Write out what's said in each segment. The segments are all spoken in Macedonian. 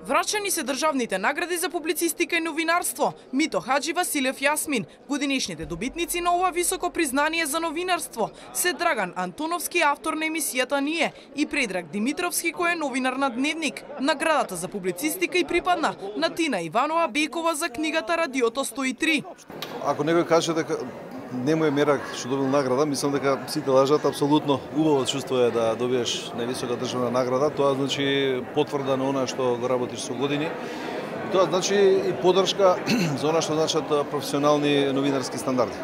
Врачани се државните награди за публицистика и новинарство. Мито Хаджи, Василев Јасмин. Годинишните добитници на ова високо признание за новинарство се Драган Антоновски, автор на емисијата Ние, и Предраг Димитровски, кој е новинар на Дневник. Наградата за публицистика и припадна на Тина Иванова Бекова за книгата Радиото 103. Ако некој каже дека не му е мерак што добил награда, мислам дека сите лажат. Апсолутно убаво чувство е да добиеш највисока државна награда. Тоа значи потврда на она што го работиш со години. И тоа значи и поддршка за она што значат професионални новинарски стандарди.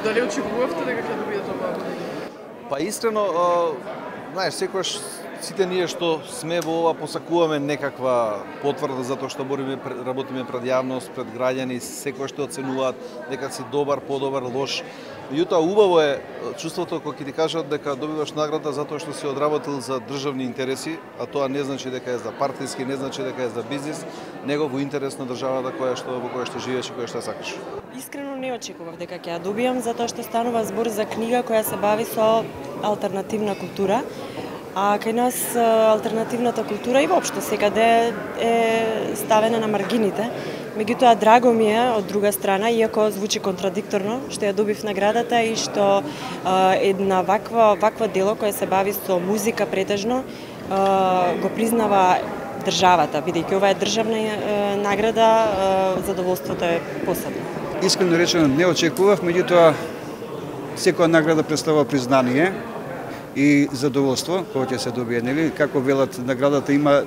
Дали очекувавте дека ќе добиете оваа година? Па искрено, знаеш, секогаш сите ние што сме во ова посакуваме некаква потврда затоа што работиме пред јавност, пред граѓани, секогаш што оценуваат дека си добар, подобар, лош. Меѓутоа убаво е чувството кога ќе ти кажат дека добиваш награда затоа што си одработил за државни интереси, а тоа не значи дека е за партиски, не значи дека е за бизнис, него во интерес на државата во која што живееш и која што сакаш. Искрено не очекував дека ќе ја добијам затоа што станува збор за книга која се бави со алтернативна култура. А кај нас алтернативната култура и воопшто секаде е ставена на маргините. Меѓутоа драго ми е од друга страна, иако звучи контрадикторно, што ја добив наградата и што една ваква дело која се бави со музика претежно го признава државата, бидејќи ова е државна награда, задоволството е посебно. Искрено речено не очекував, меѓутоа секоја награда представува признание и задоволство кога ќе се добие, нели? Како велат, наградата има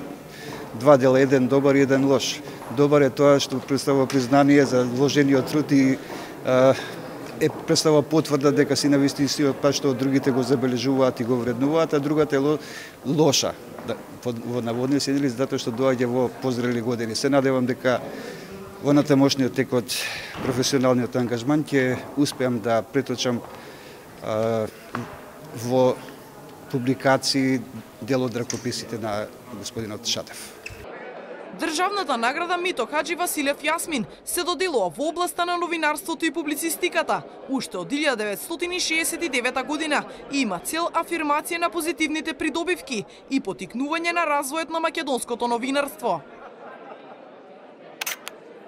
два дела, еден добар и еден лош. Добар е тоа што представува признание за вложениот труд и представува потврда дека си на вистинскиот пат што другите го забележуваат и го вреднуваат, а другата е лоша, во наводници, нели, затоа што доаѓа во позрели години. Се надевам дека во натамошниот тек од професионалниот ангажман ќе успеам да преточам во публикации дел од ракописите на господинот Шатев. Државната награда Мито Хаджи, Василев Јасмин се доделува во областа на новинарството и публицистиката уште од 1969 година и има цел афирмација на позитивните придобивки и поттикнување на развојот на македонското новинарство.